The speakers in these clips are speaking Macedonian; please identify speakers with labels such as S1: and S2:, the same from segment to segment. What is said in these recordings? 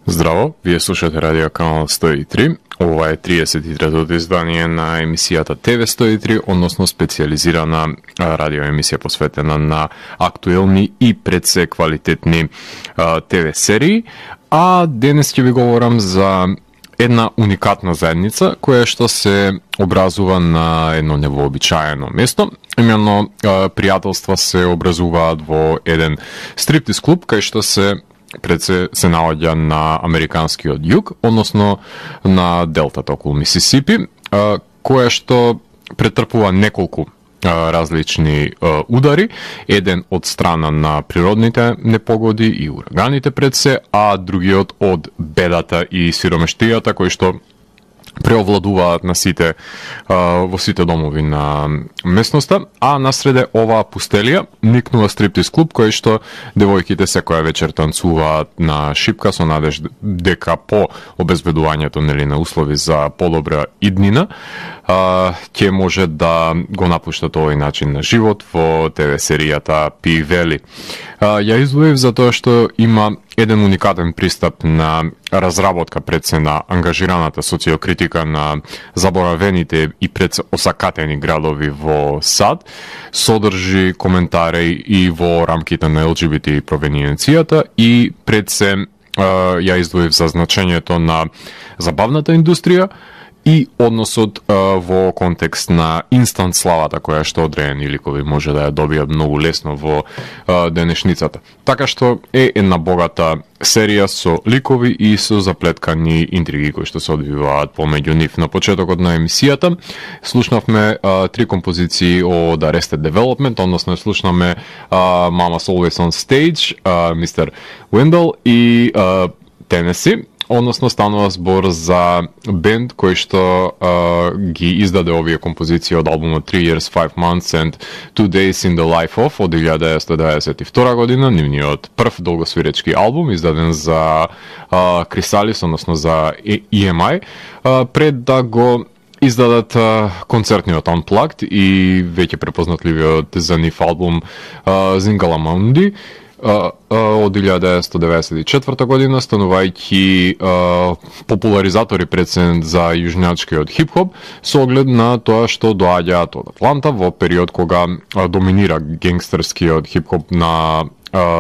S1: Здраво, вие слушате радио канал 103. Ова е 33-то издание на емисијата ТВ 103, односно специјализирана радио емисија посветена на актуелни и пред се квалитетни ТВ серии. А денес ќе ви говорам за една уникатна заедница која што се образува на едно невообичаено место. Именно пријателства се образуваат во еден стриптиз клуб кај што се наоѓа на американскиот југ, односно на делтата околу Мисисипи, која што претрпува неколку различни удари, еден од страна на природните непогоди и ураганите пред се, а другиот од бедата и сиромештијата кои што преовладуваат на во сите домови на местноста, а насреде оваа пустелија никнува стриптиз клуб кој што девојките секоја вечер танцуваат на шипка со надеж дека по обезбедувањето на услови за подобра иднина ќе може да го напуштат овој начин на живот во ТВ серијата P-Valley. Ја издвоив затоа што има еден уникатен пристап на разработка пред се на ангажираната социокритика на заборавените и пред се осакатени градови во САД, содржи коментари и во рамките на ЛГБТ провениенцијата и пред се ја издвоив за значењето на забавната индустрија и односот во контекст на инстант славата која што одредени ликови може да ја добијат многу лесно во денешницата. Така што е една богата серија со ликови и со заплеткани интриги кои што се одвиваат помеѓу нив. На почетокот на емисијата слушнавме три композиции од Arrested Development, односно слушнаме Mama's Always on Stage, Mr. Wendell и Tennessee. Односно станува збор за бенд кој што ги издаде овие композиции од албумот 3 Years, 5 Months and 2 Days in the Life of од 1992 година, нивниот прв долгосвиречки албум издаден за Chrysalis, односно за EMI, пред да го издадат концертниот Unplugged и веќе препознатливиот за нив албум Zingala Mundi од 1994 година, станувајќи популаризатори прецедент за јужњачкиот хип-хоп со оглед на тоа што доаѓаат од Атланта во период кога доминира генгстерскиот хип-хоп на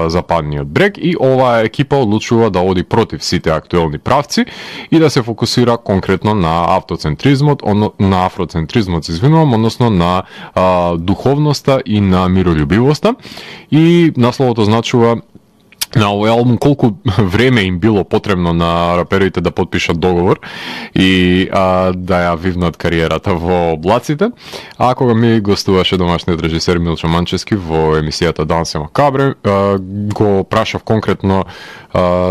S1: западниот брег и оваа екипа одлучува да оди против сите актуелни правци и да се фокусира конкретно на автоцентризмот, на афроцентризмот, односно на духовноста и на мирољубивоста. И насловот означува на овој албум колку време им било потребно на раперите да потпишат договор и да ја вивнат кариерата во облаците. А кога ми гостуваше домашниот режисер Милчо Манчевски во емисијата Дансе Макабре, го прашав конкретно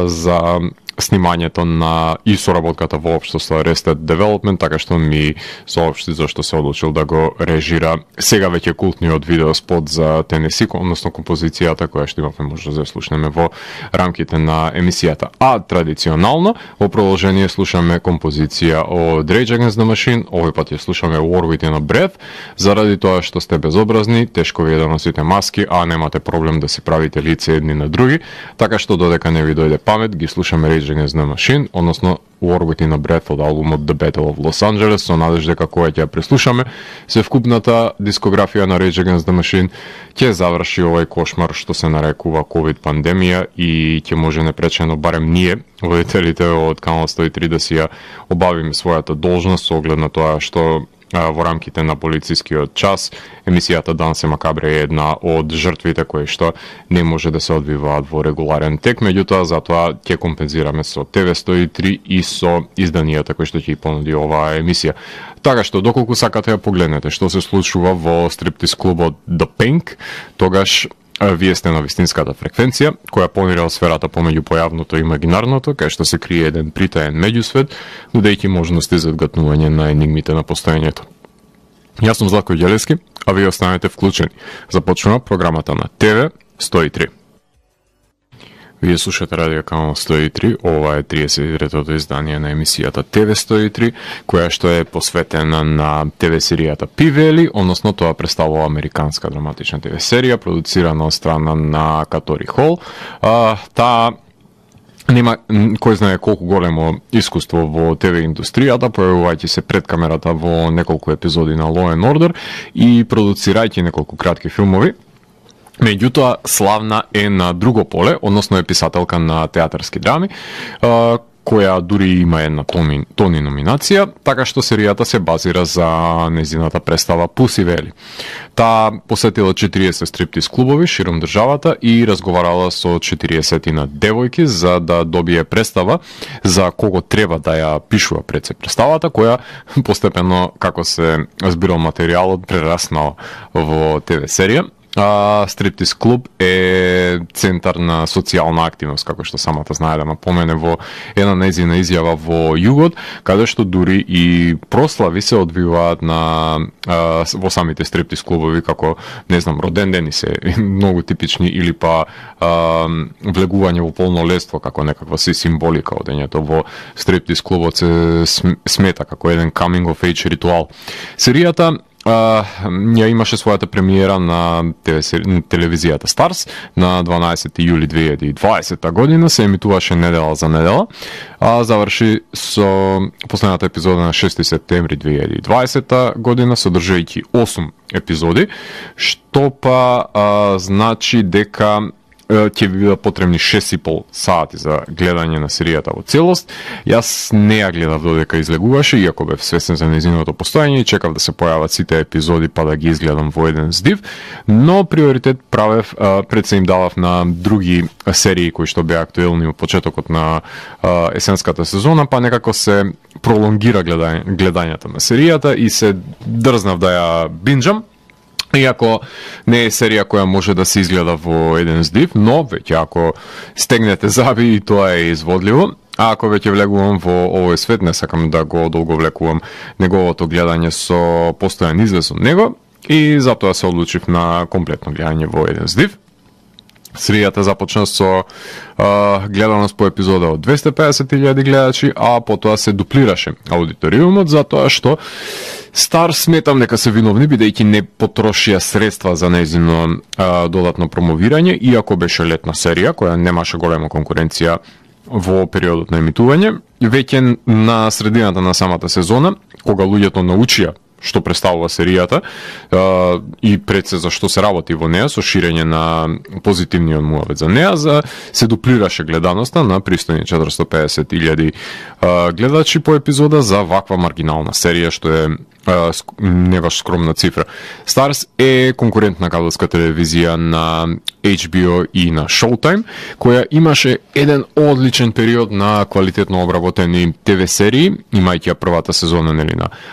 S1: за снимањето на и соработката воопшто со Arrested Development, така што ми соопшти зашто се одлучил да го режира сега веќе култниот видеоспот за Tennessee, односно композицијата која што имавме можност да слушнеме во рамките на емисијата. А традиционално во продолжение слушаме композиција од Rage Against the Machine, овој пат ја слушаме War Within a Breath, заради тоа што сте безобразни, тешко ви е да носите маски, а немате проблем да си правите лице едни на други, така што додека не ви дојде памет, ги слушаме Rage Against the Machine, односно War Within a Breath од албумот The Battle of Los Angeles, со надеж дека кога ќе ја преслушаме, се вкупната дискографија на Rage Against the Machine ќе заврши овој кошмар што се нарекува COVID пандемија и ќе може непречено барем ние, водителите од Канал 103, да си ја обавиме својата должност со оглед на тоа што во рамките на полицискиот час емисијата Дансе Макабре е една од жртвите кои што не може да се одвиваат во регуларен тек, меѓутоа затоа ќе компензираме со ТВ 103 и со изданијата кои што ќе понуди оваа емисија. Така што доколку сакате да погледнете што се случува во стриптиз клубот The Pink, тогаш вие сте на вистинската фреквенција, која помира сферата помеѓу појавното и имагинарното, кај што се крие еден притаен меѓусвет, нудејќи можности за одгатнување на енигмите на постоењето. Јас сум Златко Ѓелевски, а вие останете вклучени. Започнува програмата на ТВ 103. Вие слушате радио канал 103, ова е 33-тото издание на емисијата ТВ 103, која што е посветена на ТВ серијата P-Valley, односно тоа представува американска драматична ТВ серија, продуцирана од страна на Катори Хол. Таа нема кој знае колку големо искуство во ТВ индустријата, појавувајќи се пред камерата во неколку епизоди на Law and Order и продуцирајќи неколку кратки филмови. Меѓутоа, славна е на друго поле, односно е писателка на театарски драми, која дури има една Тони номинација, така што серијата се базира за незината представа Пуси Вели. Таа посетила 40 стриптиз клубови широм државата и разговарала со 40 девојки за да добие представа за кого треба да ја пишува пред се представата, која постепено, како се збирал материјалот, прераснал во ТВ серија. Стриптиз клуб е центар на социјална активност, како што самата знае да напомене во една нејзина изјава во Југот, каде што дури и прослави се одвиваат во самите стриптиз клубови, како, не знам, роден дени се многу типични, или па влегување во полнолетство, како некаква си символика одењето во стриптиз клубот се смета како еден coming of age ритуал. Серијата ја имаше својата премиера на телевизијата Старс на 12 јули 2020 година, се емитуваше недела за недела, а заврши со последната епизода на 6 септември 2020 година, содржајќи 8 епизоди, што па значи дека ќе ви бидат потребни 6,5 сати за гледање на серијата во целост. Јас не ја гледав додека излегуваше, иако бев свесен за нејзиното постојање и чекав да се појават сите епизоди па да ги изгледам во еден здив, но приоритет правев, пред се им давав на други серии кои што беа актуелни во почетокот на есенската сезона, па некако се пролонгира гледањето на серијата и се дрзнав да ја бинџам. Иако не е серија која може да се изгледа во еден здив, но веќе ако стегнете заби и тоа е изводливо, а ако веќе влегувам во овој свет, не сакам да го долговлекувам неговото гледање со постојан извес од него и затоа се одлучив на комплетно гледање во еден здив. Серијата започна со гледаност по епизода од 250.000 гледачи, а потоа се дуплираше аудиториумот, затоа што Стар сметам дека се виновни, бидејќи не потрошија средства за нејзино додатно промовирање, иако беше летна серија, која немаше голема конкуренција во периодот на емитување. Веќе на средината на самата сезона, кога луѓето научија што представува серијата и пред се за што се работи во неа, со ширење на позитивниот муавет за неа, се дуплираше гледаноста на пристојни 450.000 гледачи по епизода за ваква маргинална серија, што е не баш скромна цифра. Старс е конкурентна кабелска телевизија на HBO и на Showtime, која имаше еден одличен период на квалитетно обработени ТВ серии, имајќи ја првата сезона на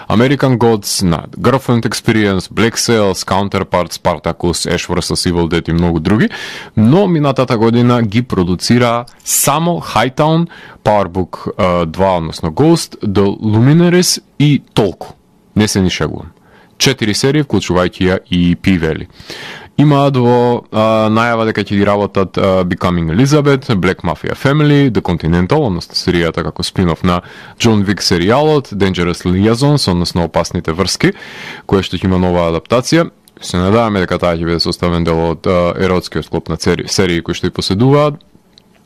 S1: American Gods, на Girlfriend Experience, Black Sails, Counterpart, Spartacus, Ash vs Evil Dead и многу други, но минатата година ги продуцира само Hightown, Powerbook 2, односно Ghost, The Luminaries и толку. Не се ни шегувам. 4 серии, вклучувајќи ја и P-Valley. Имаат во најава дека ќе ги работат Becoming Elizabeth, Black Mafia Family, The Continental, односно серијата како спин-оф на John Wick серијалот, Dangerous Liaisons, односно Опасните врски, која што ќе има нова адаптација. Се надаваме дека таа ќе биде составен дел од еротскиот склоп на серии кои што и поседуваат,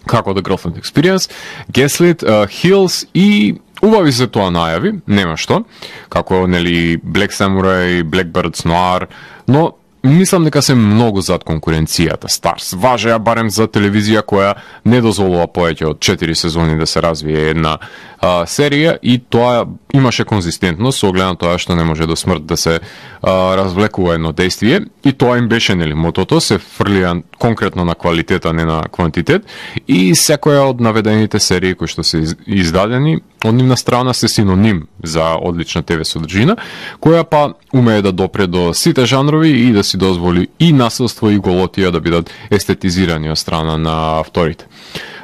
S1: како The Girlfriend Experience, Gaslit, Hills и убави се тоа најави, нема што, како нели Black Samurai, Blackbirds Noir, но мислам дека се многу зад конкуренцијата. Старс важеа барем за телевизија која не дозволува повеќе од 4 сезони да се развие една серија и тоа имаше конзистентност со оглед на тоа што не може до смрт да се развлекува едно действие и тоа им беше нели мотото, се фрлија конкретно на квалитет, а не на квантитет и секоја од наведените серии кои што се издадени од нивна страна се синоним за одлична ТВ содржина, која па умее да допре до сите жанрови и да си дозволи и насилство и голотија да бидат естетизирани од страна на авторите.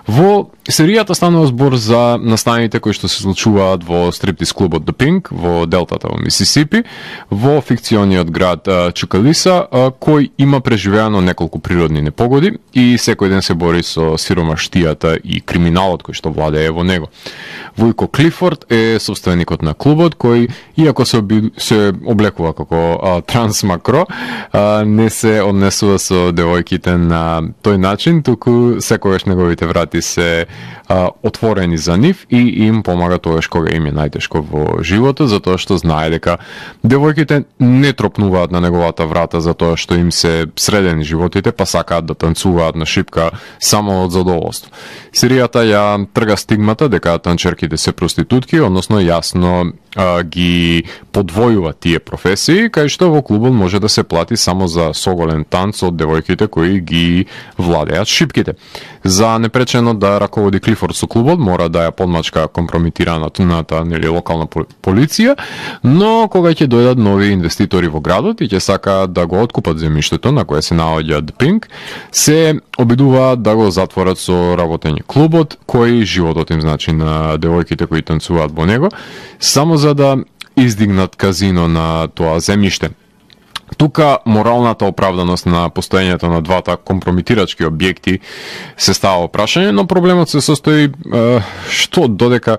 S1: Во серијата станува збор за настаните кои што се случуваат во стриптиз клубот The Pink во делтата во Мисисипи, во фикциониот град Чикалиса, кој има преживеано неколку природни непогоди и секој ден се бори со сиромаштијата и криминалот кој што владее во него. Војко Клифорд е собственикот на клубот, кој, иако се облекува како трансмакро, не се однесува со девојките на тој начин, туку секогаш неговите врати се отворени за нив и им помага тогаш кога им е најтешко во животот, затоа што знае дека девојките не тропнуваат на неговата врата затоа што им се средени животите, па сакаат да танцуваат на шипка само од задоволство. Серијата ја трга стигмата дека танчерките се проститутки, односно јасно ги подвојува тие професии, кај што во клубот може да се плати само за соголен танц од девојките кои ги владеат шипките. За непречено да раководи Клифорд со клубот, мора да ја подмачка компрометираната локална полиција, но кога ќе дојдат нови инвеститори во градот и ќе сакаат да го откупат земјиштето на кое се наоѓа The Pink, се обидуваат да го затворат со работење клубот, кој животот им значи на девојките кои танцуваат во него, само за да издигнат казино на тоа земјиште. Тука моралната оправданост на постоењето на двата компрометирачки објекти се става прашање, но проблемот се состои што додека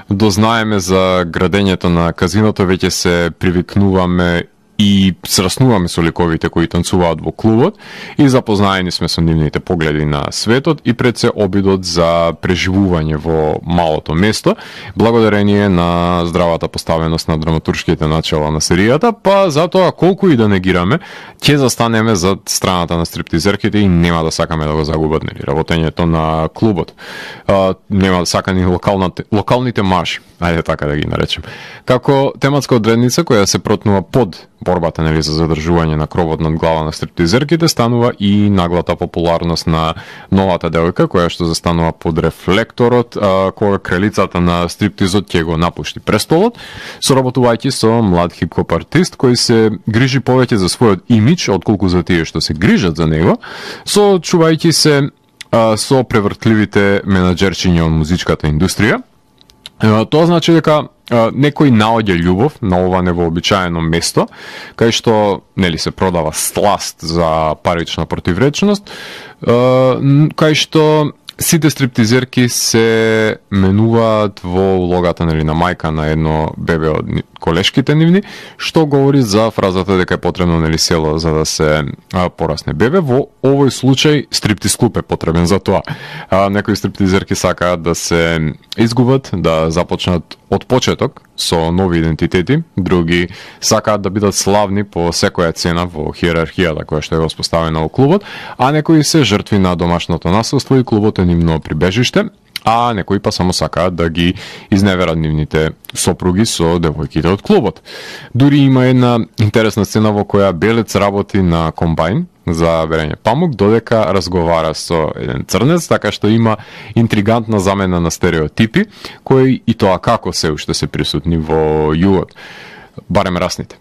S1: дознаеме за градењето на казиното, веќе се привикнуваме и сраснуваме со ликовите кои танцуваат во клубот и запознаени сме со нивните погледи на светот и пред се обидот за преживување во малото место, благодарение на здравата поставеност на драматуршките начала на серијата, па затоа колку и да негираме, ќе застанеме зад страната на стриптизерките и нема да сакаме да го загубат работењето на клубот. Нема да сака ни локалните марши, ајде така да ги наречем. Како тематска одредница која се протнува под борбата за задржување на кровот над глава на стриптизерките, станува и наглата популарност на новата девојка која што застанува под рефлекторот кога кралицата на стриптизот ќе го напушти престолот, соработувајќи со млад хип-хоп артист кој се грижи повеќе за својот имидж отколку за тие што се грижат за него, соочувајќи се со превртливите менаџерчиња од музичката индустрија. Тоа значи дека некој наоѓа љубов на ова невообичаено место, кај што се продава сласт за парична противречност, кај што сите стриптизерки се менуваат во улогата на мајка на едно бебе од колешките нивни, што говори за фразата дека е потребно село за да се порасне бебе. Во овој случај стриптиз клуб е потребен за тоа. Некои стриптизерки сакаат да се изгубат, да започнат од почеток со нови идентитети, други сакаат да бидат славни по секоја цена во хиерархијата која што е воспоставена во клубот, а некои се жртви на домашното насилство и клубот е нивно прибежиште, а некои па само сакаат да ги изневерат нивните сопруги со девојките од клубот. Дури има една интересна сцена во која белец работи на комбајн за берење памук, додека разговара со еден црнец, така што има интригантна замена на стереотипи, кои и тоа како се уште се присутни во југот, барем расните.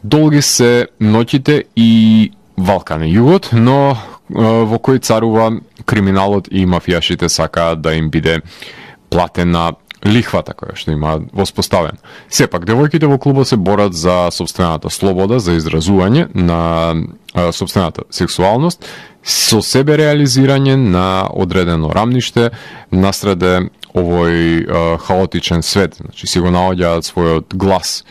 S1: Долги се ноќите и валкан е југот, но во кој царува криминалот и мафијашите сакаат да им биде платена лихвата која што има воспоставен. Сепак, девојките во клубот се борат за собствената слобода, за изразување на собствената сексуалност, со себе реализирање на одредено рамниште насреде овој хаотичен свет, значи си го наоѓаат својот глас.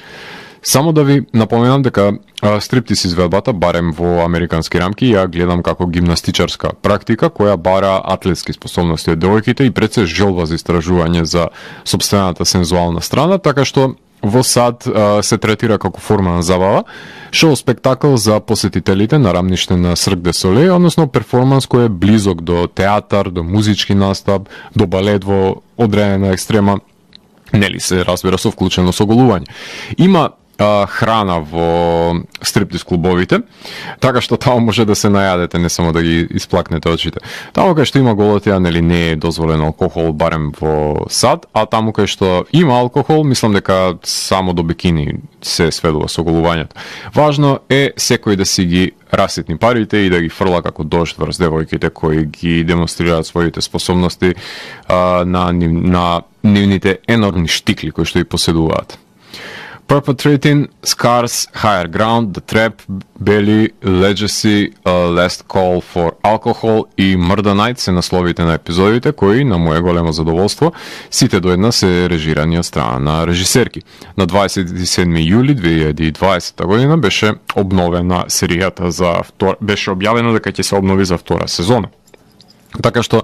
S1: Само да ви напоменам дека стриптиз изведбата, барем во американски рамки, ја гледам како гимнастичарска практика која бара атлетски способности од девојките и пред се желба за истражување за собствената сензуална страна, така што во САД се третира како форма на забава, шоу спектакл за посетителите на рамниште на Cirque du Soleil, односно перформанс кој е близок до театар, до музички настап, до балет во одредена екстрема, се разбира со вклучено соголување. Има храна во стриптиз клубовите, така што таму може да се најадете, не само да ги исплакнете очите. Таму кај што има голотија, не е дозволен алкохол, барем во САД, а таму кај што има алкохол, мислам дека само до бикини се сведува соголувањето. Важно е секој да си ги раситни парите и да ги фрла како дожд врз девојките кои ги демонстрираат своите способности на нивните енормни штикли кои што и поседуваат. Perpetrating, Scars, Higher Ground, The Trap, Belly, Legacy, Last Call for Alcohol и Murder Night се насловите на епизодите кои, на моje големо задоволство, сите до една се режирани од страна на режисерки. На 27 јули 2020 година беше обновена серијата беше објавено дека ќе се обнови за втора сезона. Така што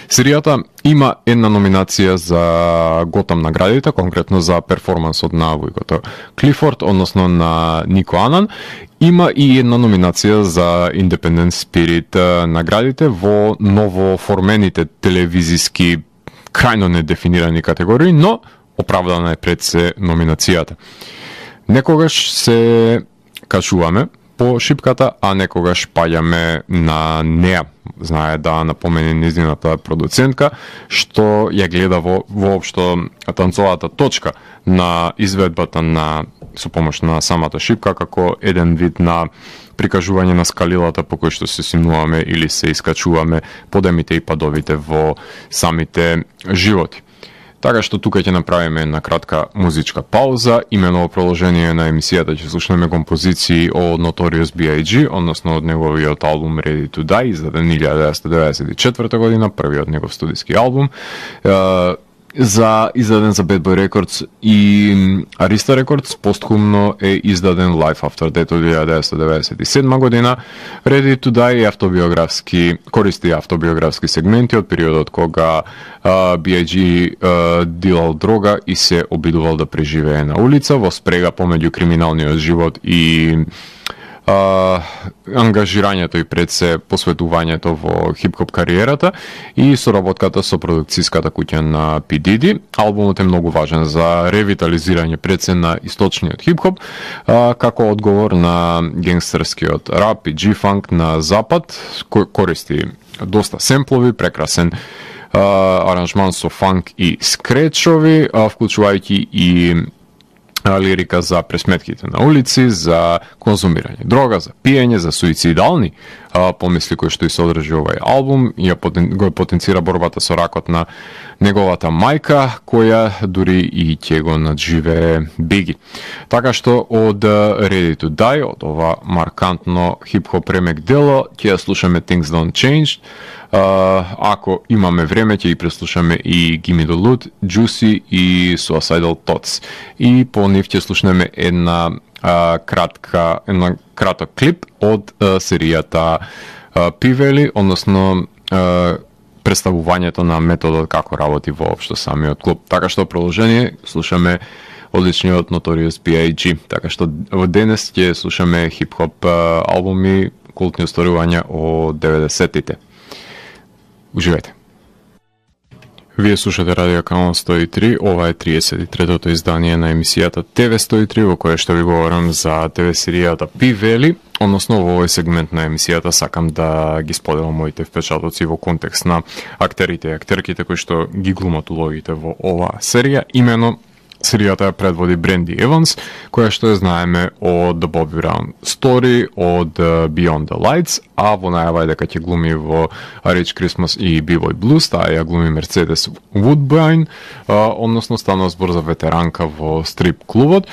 S1: серијата има една номинација за Готам наградите, конкретно за перформансот на Вујкото Клифорд, односно на Нико Анан. Има и една номинација за Independent Spirit наградите во новоформените телевизиски крајно недефинирани категории, но оправдана е пред се номинацијата. Некогаш се качуваме по шипката, а некогаш паѓаме на неа. Знае да напомене низината продуцентка, што ја гледа воопшто танцовата точка на изведбата со помош на самата шипка, како еден вид на прикажување на скалилата по кои што се симнуваме или се искачуваме подемите и падовите во самите животи. Така што тука ќе направиме една кратка музичка пауза, имено во продолжение на емисијата ќе слушнеме композиции од Notorious B.I.G., односно од неговиот албум Ready to Die, издаден 1994 година, првиот негов студиски албум, издаден за Bad Boy Records и Arista Records, постхумно е издаден Life After Death од 1997 година. Ready to Die користи автобиографски сегменти од периодот кога B.I.G. дилал дрога и се обидувал да преживее на улица во спрега помеѓу криминалниот живот и ангажирањето и пред се посветувањето во хип-хоп кариерата и соработката со продукцијската куќа на P. Diddy. Албумот е многу важен за ревитализирање пред се на источниот хип-хоп, како одговор на генгстерскиот рап и G-фанк на запад, кој користи доста семплови, прекрасен аранжман со фанк и скречови, вклучувајќи и лирика за пресметките на улици, за конзумирање дрога, за пиење, за суицидални помисли кои што и содржи овај албум, и го потенцира борбата со ракот на неговата мајка, која дури и ќе го надживее Биги. Така што од Ready to Die, од ова маркантно хип-хоп ремек дело, ќе ја слушаме Things Don't Change. Ако имаме време, ќе ги преслушаме и Gimme the Loot, Juicy и Suicidal Thoughts. И по нив ќе слушнеме една краток клип од серијата P-Valley, односно представувањето на методот како работи воопшто самиот клуб. Така што продолжение слушаме одличниот Notorious B.I.G. Така што денес ќе слушаме хип-хоп албуми, култни остварувања од 90-тите. Уживајте. Вие слушате Радио Канал 103, ова е 33-тото издание на емисијата TV 103, во кое што ви говорам за ТВ серијата P-Valley, односно во овој сегмент на емисијата сакам да ги споделам моите впечатоци во контекст на актерите и актерките кои што ги глумат улогите во оваа серија. Имено серијата ја предводи Бренди Еванс, која што ја знаеме од The Bobby Brown Story, од Beyond the Lights, а во најава е дека ќе глуми во Rich Christmas и B-Boy Blues, таа ја глуми Мерцедес Woodbine, односно станува збор за ветеранка во стрип клубот,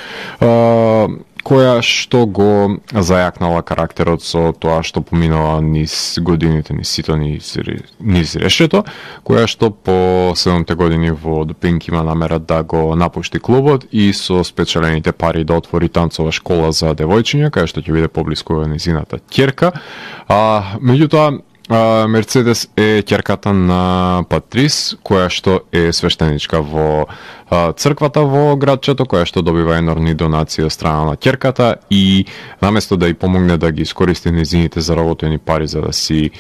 S1: која што го зајакнала карактерот со тоа што поминала низ годините, низ сито, низ решето, која што по 7-те години во The Pink има намера да го напушти клубот и со спечелените пари да отвори танцова школа за девојчиња, кај што ќе биде поблиску низината ќерка. Меѓутоа, Мерцедес е ќерката на Патрис, која што е свештеничка во црквата во градчето, која што добива енормни донации од страна на ќерката и наместо да ја помогне да ги искористи незините заработени пари за да си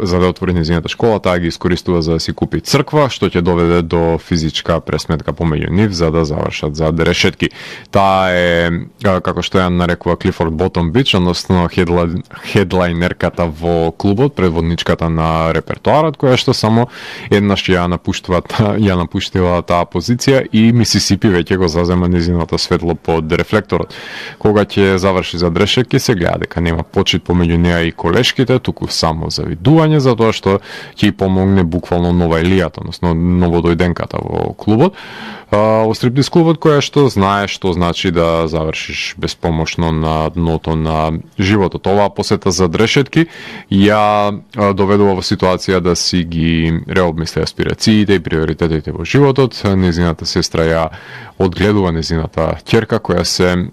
S1: за да отвори незината школа, таа ги искористува за да си купи црква, што ќе доведе до физичка пресметка помеѓу нив за да завршат зад решетки. Таа е, како што ја нарекува Клифорд Ботом Бич, односно хедлайнерката во клубот, предводничката на репертоарот, која што само еднаш ја напуштила таа позиција и Мисисипи веќе го зазема незиното светло под рефлекторот. Кога ќе заврши зад решетки, се гледа дека нема почит помеѓу неа и колешките, туку само за завидување затоа што ќе помогне буквално нова елијата, односно новодојденката во клубот. Во стриптиз клубот која што знае што значи да завршиш безпомошно на дното на животот. Оваа посета за дрешетки ја доведува во ситуација да си ги реобмисли аспирациите и приоритетите во животот. Незината сестра ја одгледува незината ќерка која се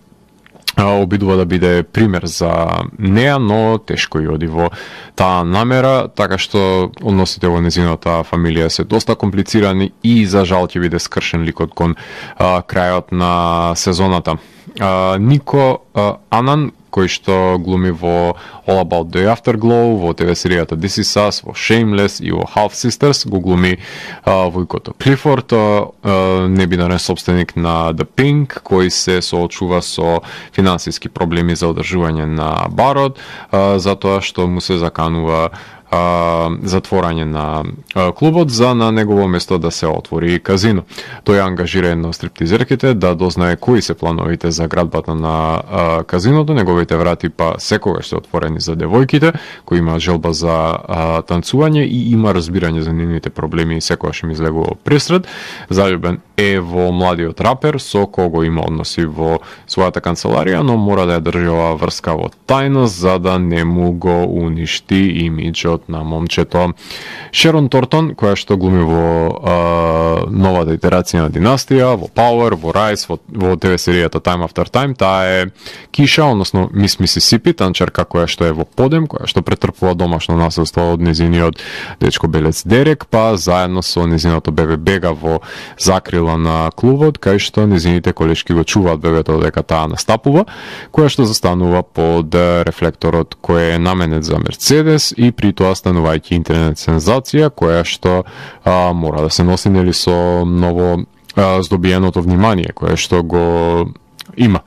S1: обидува да биде пример за неа, но тешко и оди во таа намера, така што односите во незината фамилија се доста комплицирани и за жал ќе биде скршен ликот кон крајот на сезоната. Нико Анан, кој што глуми во All About the Afterglow, во ТВ серијата This Is Us, во Shameless и во Half Sisters, го глуми војкото Клифорд, небинарен собственик на The Pink, кој се соочува со финансиски проблеми за одржување на барот, затоа што му се заканува затворање на клубот за на негово место да се отвори казино. Тој ангажира една од стриптизерките да дознае кои се плановите за градбата на казиното, неговите врати па секогаш се отворени за девојките кои имаат желба за танцување и има разбирање за нивните проблеми и секогаш им излегува пресред. Заљубен е во младиот рапер со кого има односи во својата канцеларија, но мора да ја држи оваа врска во тајност за да не му го уништи имиџот на момчето. Шерон Тортон, која што глуми во новата итерација на Династија, во Power, во Rise, во ТВ серијата Time After Time, таа е Киша, односно Мис Мисисипи, танчарка која што е во подем, која што претрпува домашно насилство од незиниот дечко белец Дерек, па заедно со незиното бебе бега во закрила на клубот, кај што незините колешки го чуваат бебето дека таа настапува, која што застанува под рефлекторот кој е наменет за Мерцедес и при тоа станувајќи интернет сензација која што мора да се носи нели со ново здобиеното внимание кое што го има.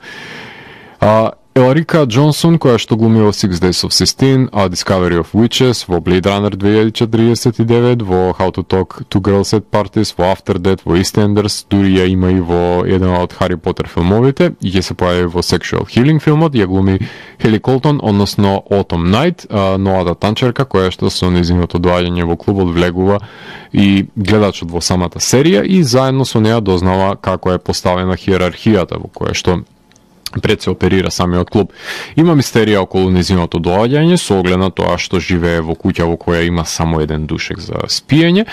S1: Еларика Джонсон, која што глуми во 6 Days of Sistine, A Discovery of Witches, во Blade Runner 2049, во How to Talk to Girls at Parties, во After Death, во EastEnders, дури ја има и во еден од Хари Потер филмовите, и ќе се појави во Sexual Healing филмот, ја глуми Хели Колтон, односно Autumn Night, новата танчерка, која што со незиното доаѓање во клубот влегува и гледачот во самата серија и заедно со неа дознава како е поставена хиерархијата во која што пред се оперира самиот клуб. Има мистерија околу незиното доаѓање со оглед на тоа што живее во куќа во која има само еден душек за спиење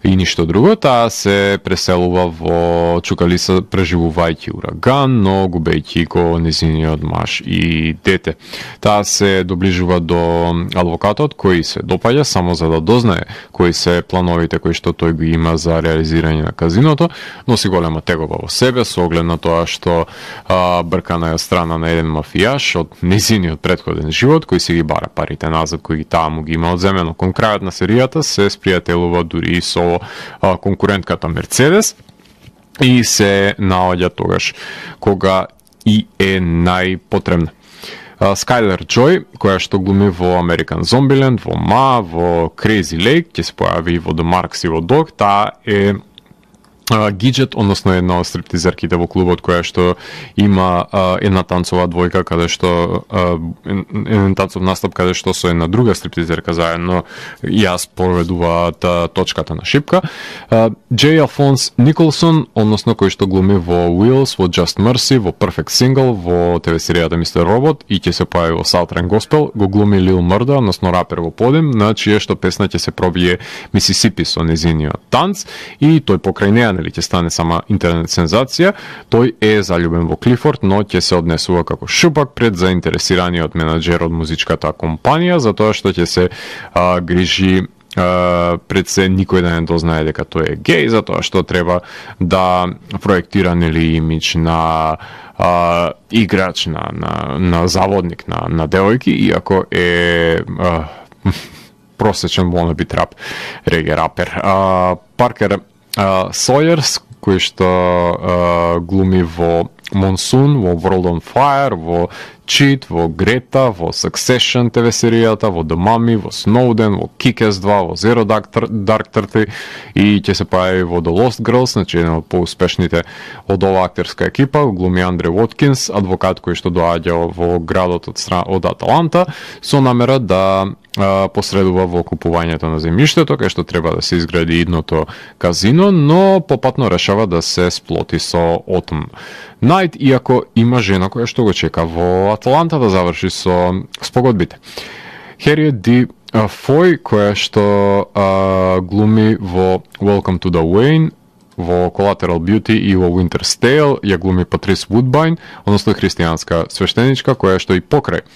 S1: и ништо друго. Таа се преселува во Чукалиса преживувајќи ураган, но губејќи го незиниот маж и дете. Таа се доближува до адвокатот кој се допаѓа само за да дознае кои се плановите кои што тој ги има за реализирање на казиното, носи голема тегоба во себе со оглед на тоа што брка на страна на еден мафијаш од незиниот претходен живот кој си ги бара парите назад кои таа му ги има одземено. Кон крајот на серијата се спријателува дури и со конкурентката Мерцедес и се наоѓа тогаш кога и е најпотребна. Скайлер Джой, која што глуми во American Zombieland, во Ма, во Crazy Lake, ќе се појави во The Marks и во Dog, таа е Гиджет, односно една од стриптизерките во клубот која што има една танцова двојка каде што еден танцов настап каде што со една друга стриптизерка заедно ја спроведуваат точката на шипка. Джей Алфонс Николсон, односно кој што глуми во Wheels, во Just Mercy, во Perfect Single, во ТВ серијата Мистер Робот и ќе се појави во Southern Gospel, го глуми Лил Мрда, односно рапер во подем, на чија што песна ќе се пробие Мисисипи со незиниот танц и тој покрај неа или ќе стане сама интернет сензација. Тој е заљубен во Клифорд, но ќе се однесува како шупак пред заинтересираниот менаџер од музичката компанија, затоа што ќе се грижи пред се никој да не дознае дека тој е геј, затоа што треба да проектира нели имидж на играч, на заводник на девојки, иако е просечен wannabe трап реге рапер. Паркер Сойерс, кој што глуми во Monsoon, во World on Fire, во Cheat, во Грета, во Succession ТВ серијата, во The Mummy, во Snowden, во Kick-Ass 2, во Zero Dark 30 и ќе се појави во The Lost Girls, значи еден од поуспешните од оваа актерска екипа, глуми Андре Воткинс, адвокат кој што доаѓа во градот од Аталанта со намера да посредува во купувањето на земјиштето, кај што треба да се изгради идното казино, но попатно решава да се сплоти со Отом Најт, иако има жена која што го чека во Аталанта да заврши со спогодбите. Хериет Ди Фој, која што глуми во Welcome to the Wayne, во Collateral Beauty и во Winter's Tale, ја глуми Патрис Вудбайн, односно христијанска свештеничка, која што и покрај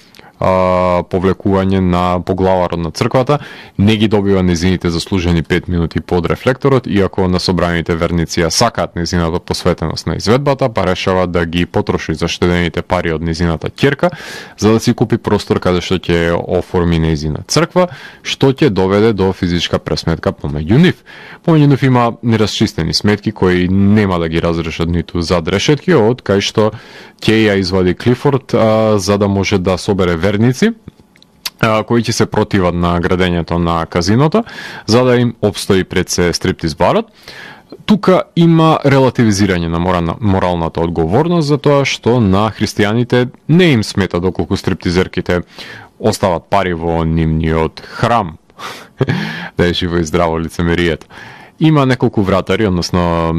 S1: повлекување на поглаварот на црквата не ги добива незините заслужени 5 минути под рефлекторот, иако на собраните верници ја сакаат незината посветеност на изведбата, па решава да ги потроши заштедените пари од незината ќерка за да си купи простор каде што ќе оформи незина црква, што ќе доведе до физичка пресметка помеѓу нив. Помеѓу нив има нерасчистени сметки кои нема да ги разрешат ниту зад решетки, од кај што ќе ја извади Клифорд за да може да собере верници кои ќе се противат на градењето на казиното, за да им обстои пред се стриптиз барот. Тука има релативизирање на моралната одговорност за тоа што на христијаните не им смета доколку стриптизерките остават пари во нивниот храм. Да е живо и здраво лицемерието. Има неколку вратари, односно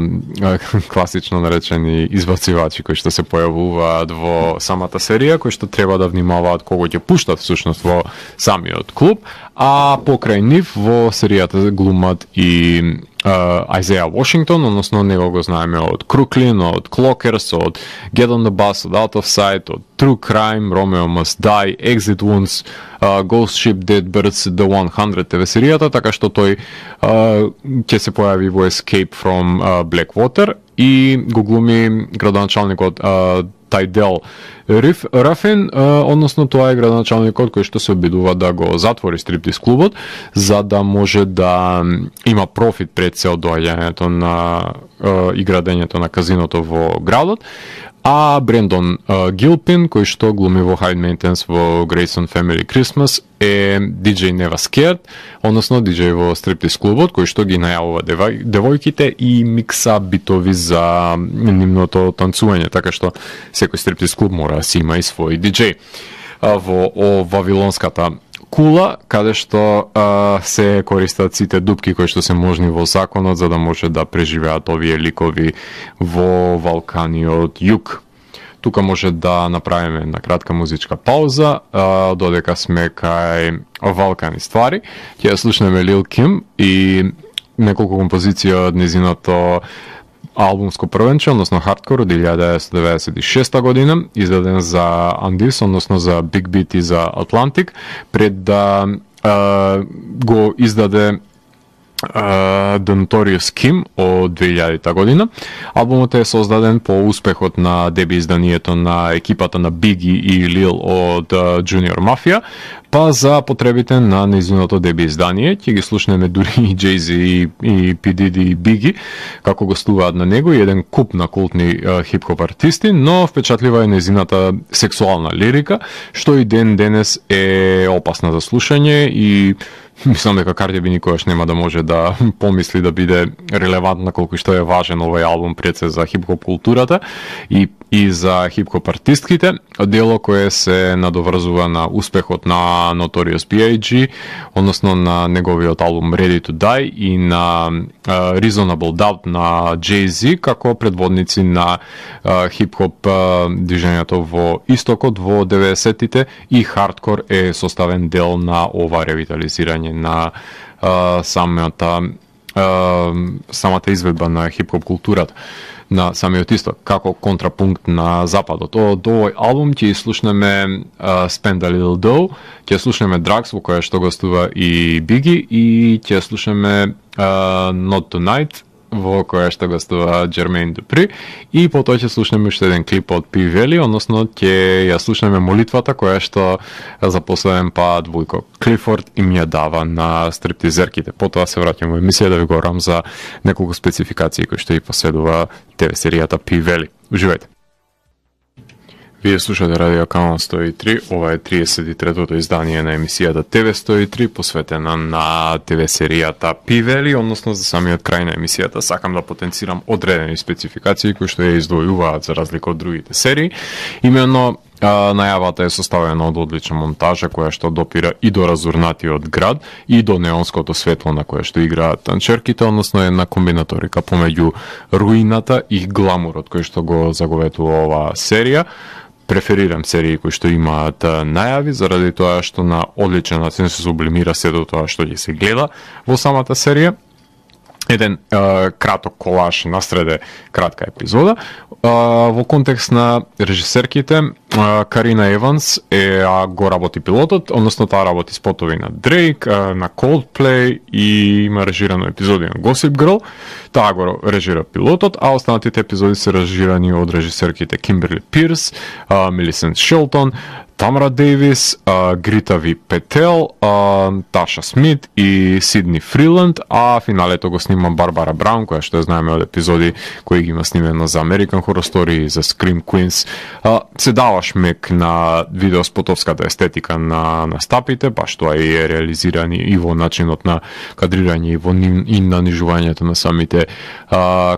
S1: класично наречени избацивачи кои што се појавуваат во самата серија, кои што треба да внимаваат кого ќе пуштат всушност во самиот клуб, а покрај нив во серијата глумат и Айзеја Вашингтон, односно него го знаеме од Круклин, од Clockers, од Get on the Bus, од Out of Sight, од True Crime, Romeo Must Die, Exit Wounds, Ghost Ship, Dead Birds, The 100 ТВ серијата, така што тој ќе се појави во Escape from Blackwater и го глуми градоначалникот Тајдел Рафин, односно тоа е градоначалникот кој што се обидува да го затвори стриптиз клубот за да може да има профит пред се од доаѓањето на и градењето на казиното во градот. А Брендон Гилпин, кој што глуми во High Maintenance во Grayson Family Christmas, е DJ Never Scared, односно DJ во стриптиз клубот, кој што ги најавува девојките и микса битови за нивното танцување, така што секој стриптиз клуб мора да си има и свој DJ. Во Вавилонската кула, каде што се користат сите дупки кои што се можни во законот за да може да преживеат овие ликови во Валканиот југ. Тука може да направиме една кратка музичка пауза, додека сме кај Валкани ствари. Ќе ја слушнеме Лил Ким и неколку композиции од незиното албумско првенче, односно Hardcore од 1996 година, издаден за Андис, односно за Big Beat и за Atlantic, пред да го издаде The Notorious Kim од 2000 година. Албумот е создаден по успехот на деби изданието на екипата на Биги и Лил од Junior Mafia, па за потребите на незиното деби издание ќе ги слушнеме дури и Jay-Z и P. Diddy и Биги како гостуваат на него и еден куп на култни хип-хоп артисти, но впечатлива е незината сексуална лирика, што и ден денес е опасна за слушање и мислам дека Карди Би никогаш нема да може да помисли да биде релевантна колку што е важен овој албум пред се за хип-хоп културата и за хип-хоп артистките, дело кое се надоврзува на успехот на Notorious B.I.G, односно на неговиот албум Ready to Die и на Reasonable Doubt на Jay-Z како предводници на хип-хоп движењето во истокот во 90-тите и хардкор е составен дел на ова ревитализирање на самата изведба на хип-хоп културата на самиот исток, како контрапункт на западот. Од овој албум ќе слушнеме Spend a Little Dough, ќе слушнеме Drugs, во која што гостува и Биги, и ќе слушнеме Not Tonight, во која што гостува Jermaine Dupri, и потоа ќе слушнеме уште еден клип од P. Valley, односно ќе ја слушнеме молитвата која што за последен пат Вујко Клифорд им ја дава на стриптизерките. Потоа се враќам во емисија да ви говорам за неколку спецификации кои што и поседува ТВ серијата P. Valley. Уживајте! Вие слушате Радио Канал 103, ова е 33-тото издание на емисијата ТВ 103, посветена на ТВ серијата Пивели, односно за самиот крај на емисијата сакам да потенцирам одредени спецификации кои што ја издвојуваат за разлика од другите серии. Именно најавата е составена од одлична монтажа која што допира и до разурнатиот град и до неонското светло на кое што играат танчерките, односно една комбинаторика помеѓу руината и гламурот кој што го заговетува оваа серија. Преферирам серии кои што имаат најави, заради тоа што на одличен начин се сублимира сето тоа што ќе се гледа во самата серија. Еден краток колаж насреде кратка епизода. Во контекст на режисерките, Карина Еванс го работи пилотот, односно таа работи спотови на Дрейк, на Coldplay и има режирано епизоди на Gossip Girl. Таа го режира пилотот, а останатите епизоди се режирани од режисерките Кимберли Пирс, Милисент Шелтон, Тамара Дейвис, Грита Ви Петел, Таша Смит и Сидни Фриланд, а финалето го снима Барбара Браун, која што ја знаеме од епизоди кои ги има снимено за American Horror Story и за Scream Queens. Се дава шмек на видеоспотовската естетика на стапите, баш тоа е реализирани и во начинот на кадрирање и на нижувањето на самите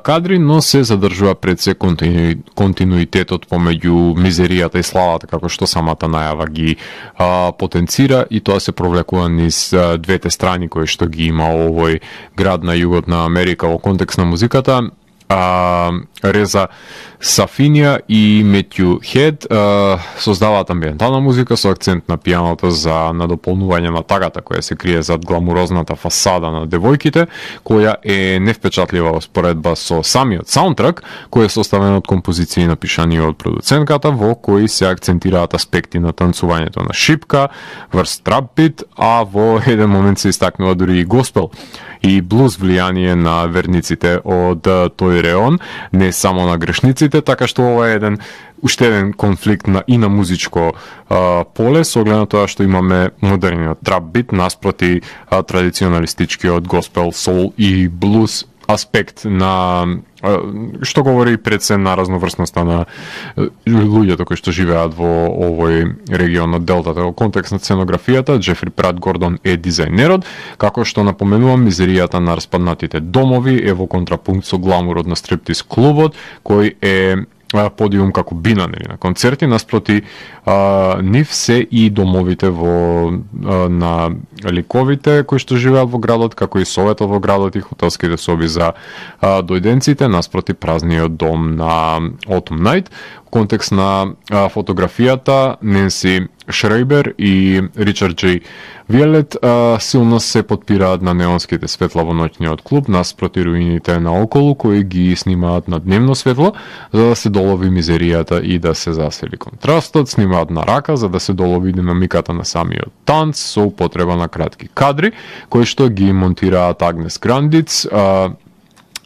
S1: кадри, но се задржува пред се континуитетот помеѓу мизеријата и славата, како што самата најава ги потенцира, и тоа се провлекува низ двете страни кои што ги има овој град на југот на Америка во контекст на музиката. Реза Сафинија и Метју Хед создаваат амбиентална музика со акцент на пијаното за надополнување на тагата која се крие зад гламурозната фасада на девојките, која е невпечатлива во споредба со самиот саундтрак, кој е составен од композиции напишани од продуцентката, во кои се акцентираат аспекти на танцувањето на шипка, врз трапбит, а во еден момент се истакнува дури и госпел и блуз влијание на верниците од тој реон, не само на грешниците, така што ова е уште еден конфликт и на музичко поле, со оглед на тоа што имаме модерниот трап-бит наспроти традиционалистичкиот госпел, сол и блуз аспект на што говори пред се на разноврсноста на луѓето кои што живеат во овој регион од Делтата. Во контекст на сценографијата, Джефри Прат Гордон е дизајнерот, како што напоменувам, мизеријата на распаднатите домови е во контрапункт со гламурот на стриптиз клубот, кој е подиум како бина на концерти, наспроти нив се и домовите на ликовите кои што живеат во градот, како и советот во градот и хотелските соби за дојденците, наспроти празниот дом на Autumn Night. В контекст на фотографијата, Ненси Шрейбер и Ричард Џей Виелет силно се подпираат на неонските светла во ноќниот клуб, наспроти руините наоколу, кои ги снимаат на дневно светло, за да се долови мизеријата и да се засели контрастот. Снимаат на рака, за да се долови динамиката на самиот танц, со употреба на кратки кадри, кои што ги монтираат Агнес Грандиц,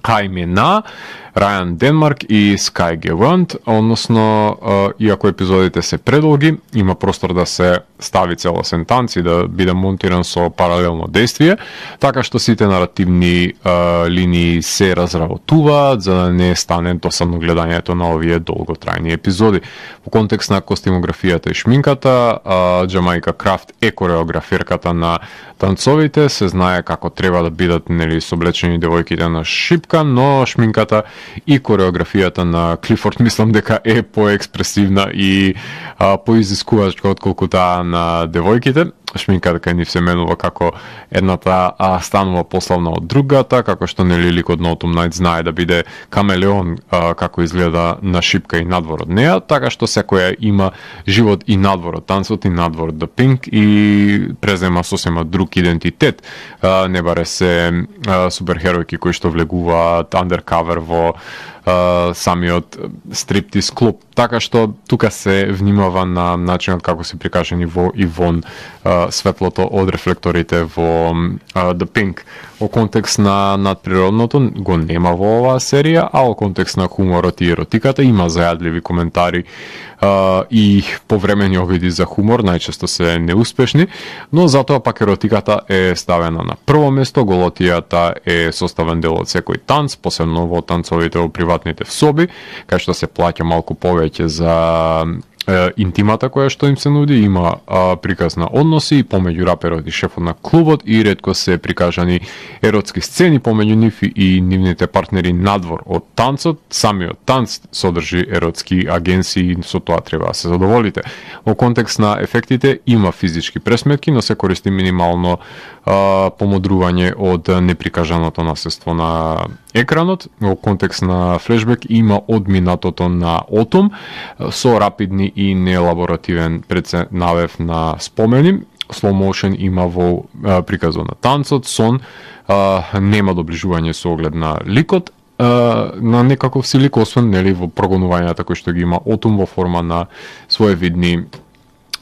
S1: Хајме На, Рајан Денмарк и Скај Гевант, односно, иако епизодите се предолги, има простор да се стави целосен танц и да биде монтиран со паралелно действие, така што сите наративни линии се разработуваат, за да не стане досадно гледањето на овие долготрајни епизоди. Во контекст на костимографијата и шминката, Џамаика Крафт е кореограферката на танцовите, се знае како треба да бидат соблечени девојките на шипка, но шминката и кореографијата на Клифорд мислам дека е поекспресивна и поизискувачка отколку таа на девојките. Шминката кај нив се менува како едната станува пославна од другата, како што ликот на Autumn Night знае да биде камелеон како изгледа на шипка и надвор од неа, така што секоја има живот и надвор од танцот и надвор од The Pink и презема сосема друг идентитет. Не баре се суперхеројки кои што влегуваат undercover во самиот стриптиз клуб. Така што тука се внимава на начинот како се прикажани во и вон светлото од рефлекторите во The Pink. Во контекст на надприродното го нема во оваа серија, а во контекст на хуморот и еротиката има зајадливи коментари и повремени обиди за хумор, најчесто се неуспешни, но затоа пак еротиката е ставена на прво место, голотијата е составен дел од секој танц, посебно во танцовите во приватните соби, кај што се плаќа малку повеќе за интимата која што им се нуди, има приказ на односи помеѓу раперот и шефот на клубот и ретко се прикажани еротски сцени помеѓу нив и нивните партнери надвор од танцот. Самиот танц содржи еротски агенции и со тоа треба да се задоволите. Во контекст на ефектите има физички пресметки, но се користи минимално помодрување од неприкажаното наследство на екранот. Во контекст на флешбек има одминатото на Отум со рапидни и нелаборативен навев на спомени. Slow motion има во приказот на танцот, сон, нема доближување со оглед на ликот, на некаков си лик, освен нели во прогонувањата кои што ги има Отум во форма на своевидни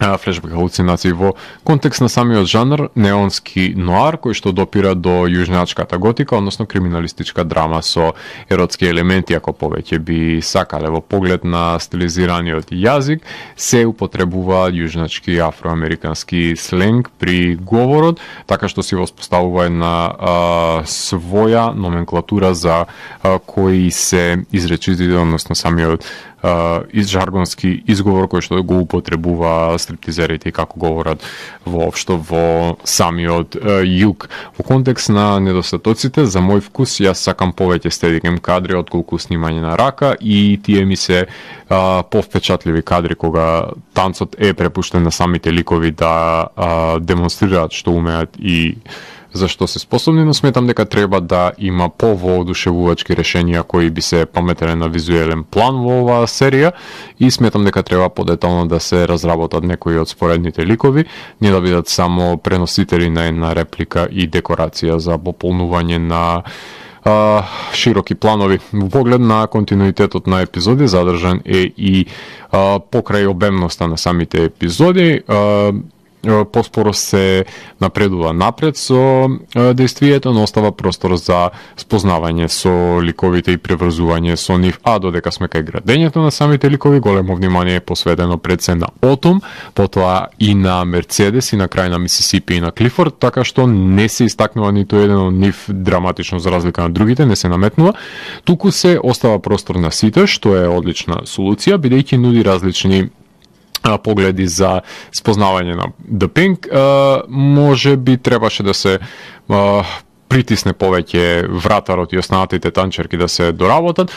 S1: флешбек халуцинации. Во контекст на самиот жанр, неонски ноар, кој што допира до јужначката готика, односно криминалистичка драма со еротски елементи, ако повеќе би сакале. Во поглед на стилизираниот јазик, се употребува јужначки афроамерикански сленг при говорот, така што се воспоставува една своја номенклатура за кои се изречители, односно самиот жаргонски изговор кој што го употребува стриптизерите и како говорат воопшто во самиот југ. Во контекст на недостатоците, за мој вкус, јас сакам повеќе стедикем кадри отколку снимање на рака и тие ми се повпечатливи кадри кога танцот е препуштен на самите ликови да демонстрираат што умеат и за што се способни, но сметам дека треба да има повоодушевувачки решенија кои би се пометеле на визуелен план во оваа серија и сметам дека треба подетално да се разработат некои од споредните ликови, не да бидат само преносители на една реплика и декорација за пополнување на широки планови. Во поглед на континуитетот на епизоди, задржан е и покрај обемноста на самите епизоди, поспоро се напредува напред со действието, но остава простор за спознавање со ликовите и преврзување со нив, а додека сме кај градењето на самите ликови, големо внимание е посветено пред се на Отум, потоа и на Мерцедес и на крај на Мисисипи и на Клифорд, така што не се истакнува ниту еден од нив драматично за разлика на другите, не се наметнува, туку се остава простор на сите, што е одлична солуција, бидејќи нуди различни погледи за спознавање на The Pink. Може би требаше да се притисне повеќе вратарот и останатите танчерки да се доработат.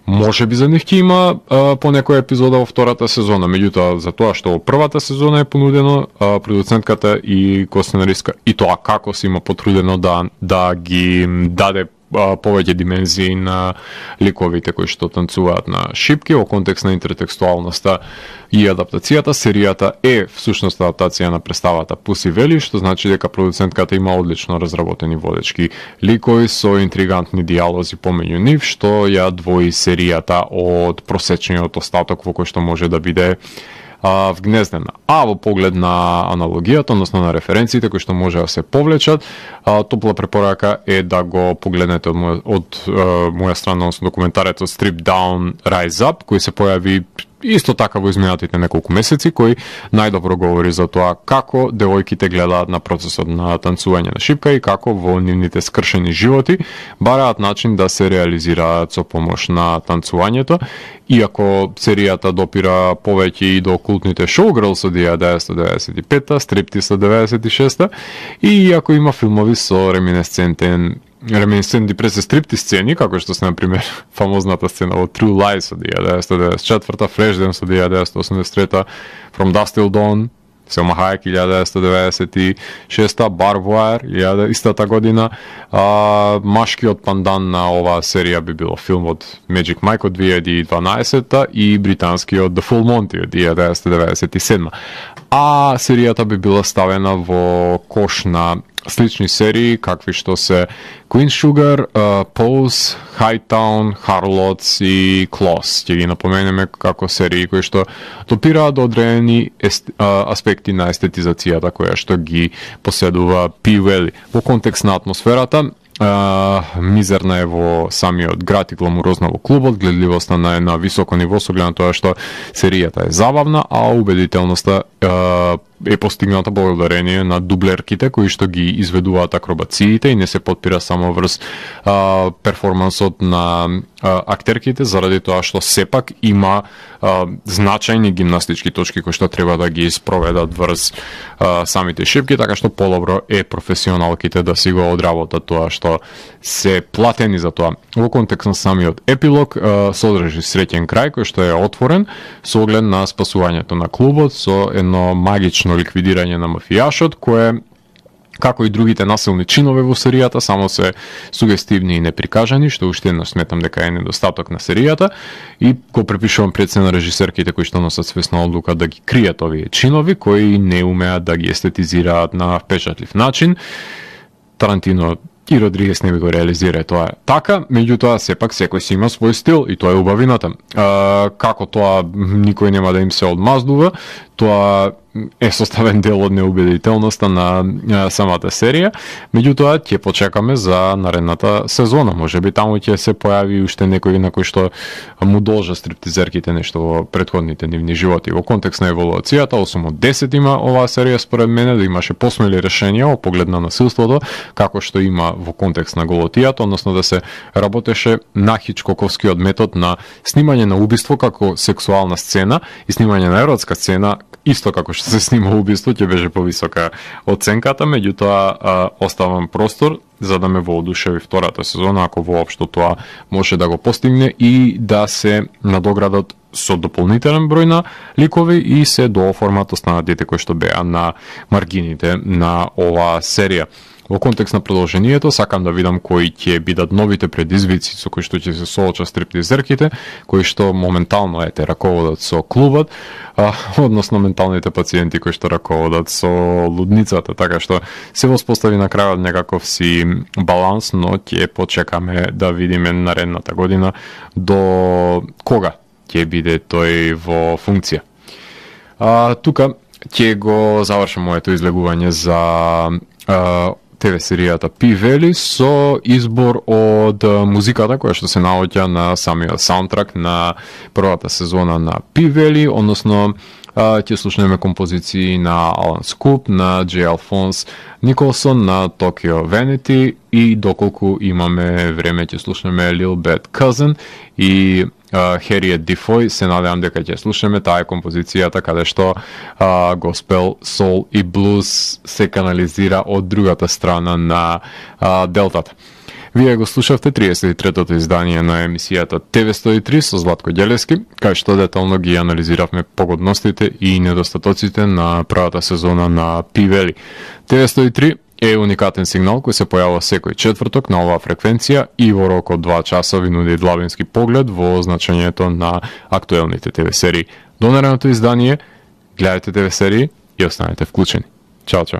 S1: Може би за нив ќе има по некоја епизода во втората сезона, меѓутоа за тоа што во првата сезона е понудено, продуцентката и косценаристка и тоа како се има потрудено да ги даде повеќе димензии на ликовите кои што танцуваат на шипки. Во контекст на интертекстуалноста и адаптацијата, серијата е всушност адаптација на представата Pussy Valley, што значи дека продуцентката има одлично разработени водечки ликови со интригантни диалози помеѓу нив, што ја двои серијата од просечниот остаток во кој што може да биде вгнездена. А во поглед на аналогијата, односно на референциите кои што може да се повлечат, топла препорака е да го погледнете од моја страна, односно документарецот Strip Down Rise Up, кој се појави исто така во изминатите неколку месеци, кој најдобро говори за тоа како девојките гледаат на процесот на танцување на шипка и како во нивните скршени животи бараат начин да се реализираат со помош на танцувањето. Иако серијата допира повеќе и до култните Showgirls од 1995-та, Striptease од 96-та, и иако има филмови со реминесцентни пред стриптиз сцени, како што се, например, фамозната сцена во True Lies од 1994-та, Flashdance од 1983-та, From Dusk Till Dawn, Selma Hayek 1996-та, Barbed Wire истата година. Машкиот пандан на оваа серија би било филм од Magic Mike од 2012-та и британскиот The Full Monty од 1997-та. А серијата би била ставена во кош на слични серии, какви што се Queen Sugar, Pose, Hightown, Harlots и Claws. Ќе ги напоменеме како серии кои што допираат до одредени аспекти на естетизацијата која што ги поседува P. Valley. Во контекст на атмосферата, мизерна е во самиот град и гламурозна во клубот, гледливоста на една високо ниво со глед на тоа што серијата е забавна, а убедителноста е постигната благодарение на дублерките кои што ги изведуваат акробациите и не се потпира само врз перформансот на актерките, заради тоа што сепак има значајни гимнастички точки кои што треба да ги спроведат врз самите шипки, така што подобро е професионалките да си го одработат тоа што се платени за тоа. Во контекст на самиот епилог содржи среќен крај кој што е отворен со оглед на спасувањето на клубот со едно магично ликвидирање на мафијашот кое како и другите насилни чинови во серијата, само се сугестивни и неприкажани, што уште еднаш сметам дека е недостаток на серијата и го препишувам пред се на режисерките кои што носат свесна одлука да ги кријат овие чинови, кои не умеат да ги естетизираат на впечатлив начин. Тарантино и Родригес не би го реализира тоа така, меѓутоа сепак секој си има свој стил и тоа е убавината. Како тоа никој нема да им се одмаздува, тоа е составен дел од неубедителноста на самата серија, меѓутоа ќе почекаме за наредната сезона. Можеби таму ќе се појави уште некој на кој што му должа стриптизерките нешто во претходните нивни животи. Во контекст на еволуцијата, 8 од 10 има оваа серија според мене, да имаше посмели решенија во поглед на насилството, како што има во контекст на голотијата, односно да се работеше на хичкоковскиот метод на снимање на убиство како сексуална сцена и снимање на еротска сцена исто како што се снима убиство, ќе беше повисока оценката, меѓутоа оставам простор за да ме воодушеви втората сезона, ако воопшто тоа може да го постигне и да се надоградат со дополнителен број на ликови и се дооформат останатите кои што беа на маргините на оваа серија. Во контекст на продолжението, сакам да видам кои ќе бидат новите предизвици со кои што ќе се соочат стриптизерките, кои што моментално раководат со клубот, односно менталните пациенти кои што раководат со лудницата, така што се воспостави на крајот некаков си баланс, но ќе почекаме да видиме наредната година до кога ќе биде тој во функција. Тука ќе го завршам моето излегување за ТВ серијата P-Valley со избор од музиката која што се наоѓа на самиот саундтрак на првата сезона на P-Valley, односно ќе слушнеме композиции на Алан Скуп, на Джей Алфонс Николсон, на Tokyo Vanity и доколку имаме време ќе слушнеме Lil Bad Cousin и Harriet Дифој. Се надевам дека ќе слушаме таа композицијата каде што госпел, сол и блуз се канализира од другата страна на делтата. Вие го слушавте 33-тото издание на емисијата ТВ103 со Златко Ѓелевски, кај што детално ги анализиравме погодностите и недостатоците на првата сезона на P-Valley. ТВ103 е уникатен сигнал кој се појавува секој четврток на оваа фреквенција и во рок од 2 часа ви нуди длабински поглед во значењето на актуелните ТВ серии. До наредното издание, гледајте ТВ серии и останете вклучени. Чао, чао.